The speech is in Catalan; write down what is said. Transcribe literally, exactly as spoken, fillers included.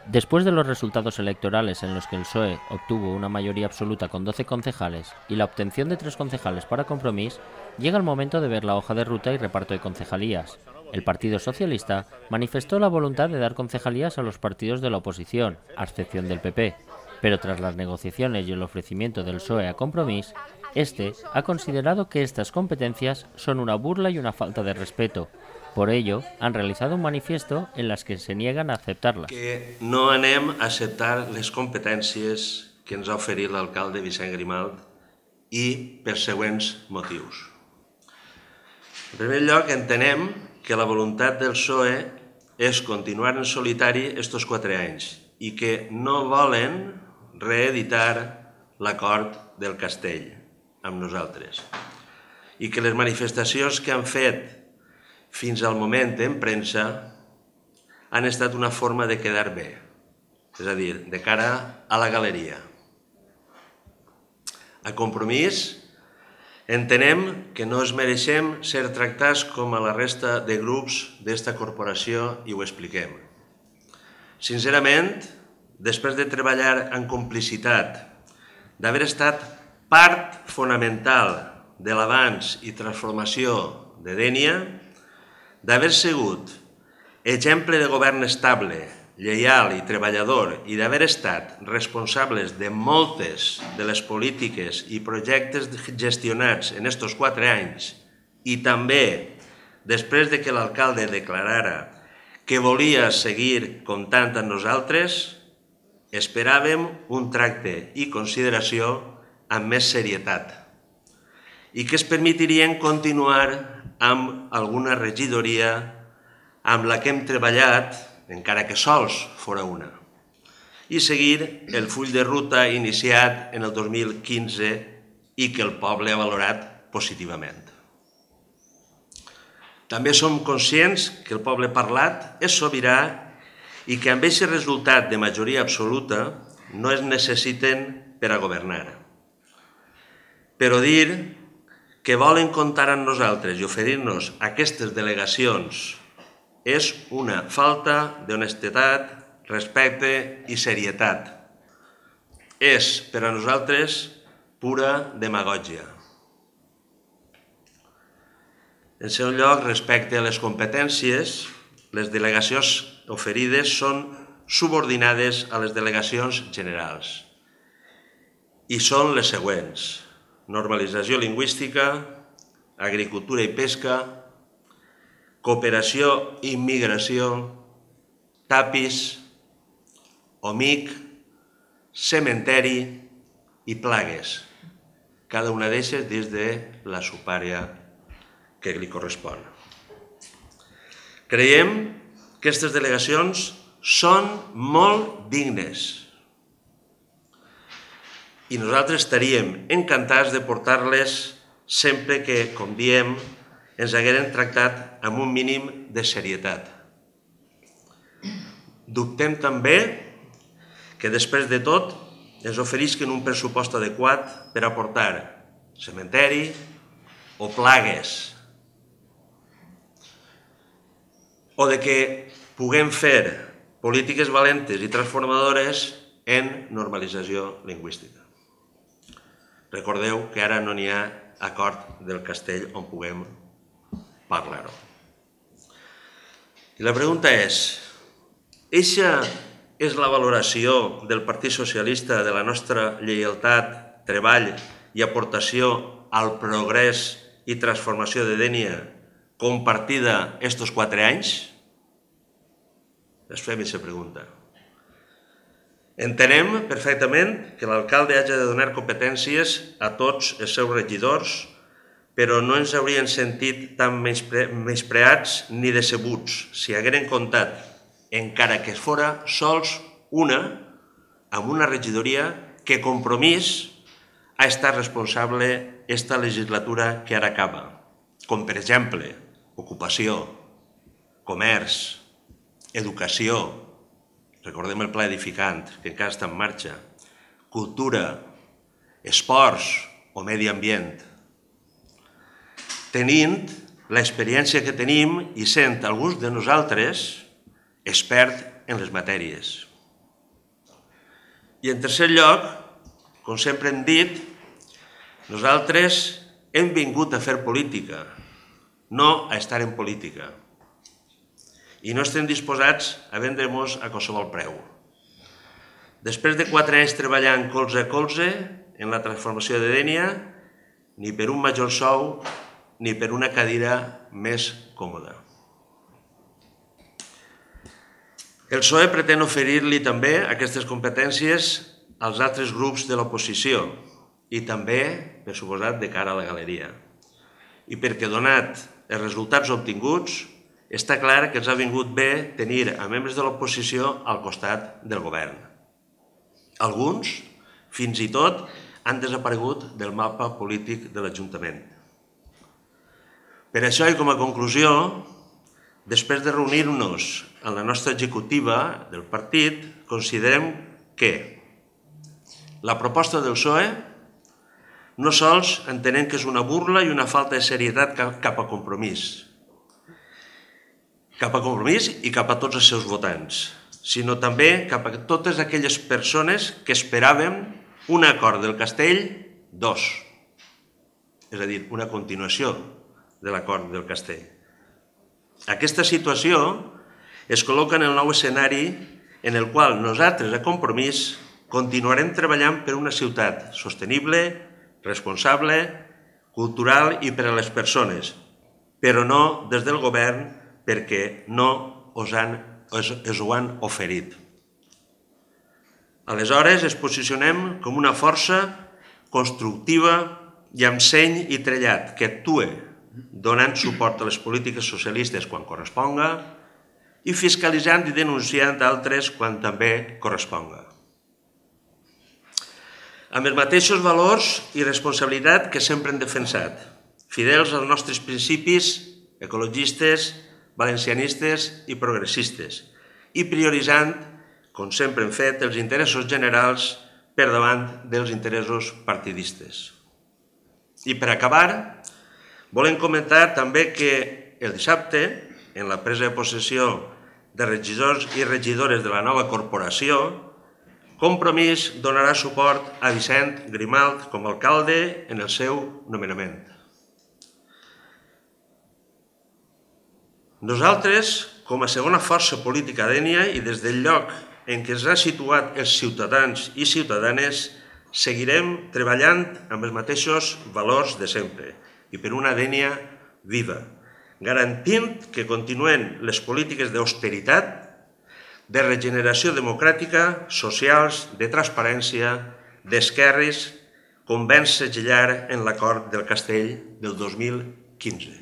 Después de los resultados electorales en los que el P S O E obtuvo una mayoría absoluta con doce concejales y la obtención de tres concejales para Compromís, llega el momento de ver la hoja de ruta y reparto de concejalías. El Partido Socialista manifestó la voluntad de dar concejalías a los partidos de la oposición, a excepción del P P, pero tras las negociaciones y el ofrecimiento del P S O E a Compromís, este ha considerado que estas competencias son una burla y una falta de respeto. Por ello, han realizado un manifiesto en las que se niegan a aceptarlas. Que no anem a acceptar les competències que ens ha oferit l'alcalde Vicent Grimalt i per següents motius. En primer lloc, entenem que la voluntat del P S O E és continuar en solitari estos quatre anys i que no volen reeditar l'acord del Castell amb nosaltres i que les manifestacions que han fet fins al moment en premsa han estat una forma de quedar bé, és a dir, de cara a la galeria. A Compromís, entenem que no es mereixem ser tractats com a la resta de grups d'esta corporació i ho expliquem. Sincerament, després de treballar en complicitat, d'haver estat part fonamental de l'avanç i transformació de Dénia, d'haver sigut exemple de govern estable, lleial i treballador i d'haver estat responsables de moltes de les polítiques i projectes gestionats en estos quatre anys i també després de que l'alcalde declarara que volia seguir comptant amb nosaltres, esperàvem un tracte i consideració amb més serietat i que es permetirien continuar amb alguna regidoria amb la que hem treballat, encara que sols fora una, i seguir el full de ruta iniciat en el dos mil quinze i que el poble ha valorat positivament. També som conscients que el poble parlat és sobirà i que amb aquest resultat de majoria absoluta no es necessiten per a governar. Però dir que volen comptar amb nosaltres i oferir-nos aquestes delegacions és una falta d'honestedat, respecte i serietat. És, per a nosaltres, pura demagògia. En segon lloc, respecte a les competències, les delegacions oferides són subordinades a les delegacions generals i són les següents: normalització lingüística, agricultura i pesca, cooperació i immigració, tapis, O M I C, cementeri i plagues, cada una d'elles dins de la supària que li correspon. Creiem que aquestes delegacions són molt dignes i nosaltres estaríem encantats de portar-les sempre que, com diem, ens hagueren tractat amb un mínim de serietat. Dubtem també que després de tot ens oferisquen un pressupost adequat per aportar cementeri o plagues, o de que puguem fer polítiques valentes i transformadores en normalització lingüística. Recordeu que ara no n'hi ha acord del Castell on puguem parlar-ho. I la pregunta és, eixa és la valoració del Partit Socialista de la nostra lleialtat, treball i aportació al progrés i transformació de Dénia compartida estos quatre anys? Es fem aquesta pregunta. Entenem perfectament que l'alcalde hagi de donar competències a tots els seus regidors, però no ens haurien sentit tan menyspreats ni decebuts si hagueren comptat, encara que fora sols una, amb una regidoria que Compromís ha estat responsable esta legislatura que ara acaba, com per exemple ocupació, comerç, educació, recordem el pla edificant, que encara està en marxa, cultura, esports o medi ambient. Tenint l'experiència que tenim i sent alguns de nosaltres expert en les matèries. I en tercer lloc, com sempre hem dit, nosaltres hem vingut a fer política, no a estar en política. I no estem disposats a vendre'ns a qualsevol preu. Després de quatre anys treballant colze a colze en la transformació de Dénia, ni per un major sou ni per una cadira més còmoda. El P S O E pretén oferir-li també aquestes competències als altres grups de l'oposició i també, per suposat, de cara a la galeria. I perquè, donat els resultats obtinguts, està clar que ens ha vingut bé tenir a membres de l'oposició al costat del govern. Alguns, fins i tot, han desaparegut del mapa polític de l'Ajuntament. Per això, i com a conclusió, després de reunir-nos en la nostra executiva del partit, considerem que la proposta del P S O E no sols entenem que és una burla i una falta de serietat cap a Compromís, cap a Compromís i cap a tots els seus votants, sinó també cap a totes aquelles persones que esperaven un acord del Castell dos, és a dir, una continuació de l'acord del Castell. Aquesta situació es col·loca en el nou escenari en el qual nosaltres, a Compromís, continuarem treballant per una ciutat sostenible, responsable, cultural i per a les persones, però no des del govern perquè no us ho han oferit. Aleshores, ens posicionem com una força constructiva i amb seny i trellat que actue donant suport a les polítiques socialistes quan corresponga i fiscalitzant i denunciant altres quan també corresponga. Amb els mateixos valors i responsabilitat que sempre hem defensat, fidels als nostres principis ecologistes, valencianistes i progressistes, i prioritzant, com sempre hem fet, els interessos generals per davant dels interessos partidistes. I per acabar, volem comentar també que el dissabte, en la presa de possessió de regidors i regidores de la nova corporació, Compromís donarà suport a Vicent Grimalt com a alcalde en el seu nomenament. Nosaltres, com a segona força política a Dénia i des del lloc en què ens ha situat els ciutadans i ciutadanes, seguirem treballant amb els mateixos valors de sempre i per una Dénia viva, garantint que continuen les polítiques d'austeritat, de regeneració democràtica, socials, de transparència, d'esquerres, com vam segellar en l'acord del Castell del dos mil quinze.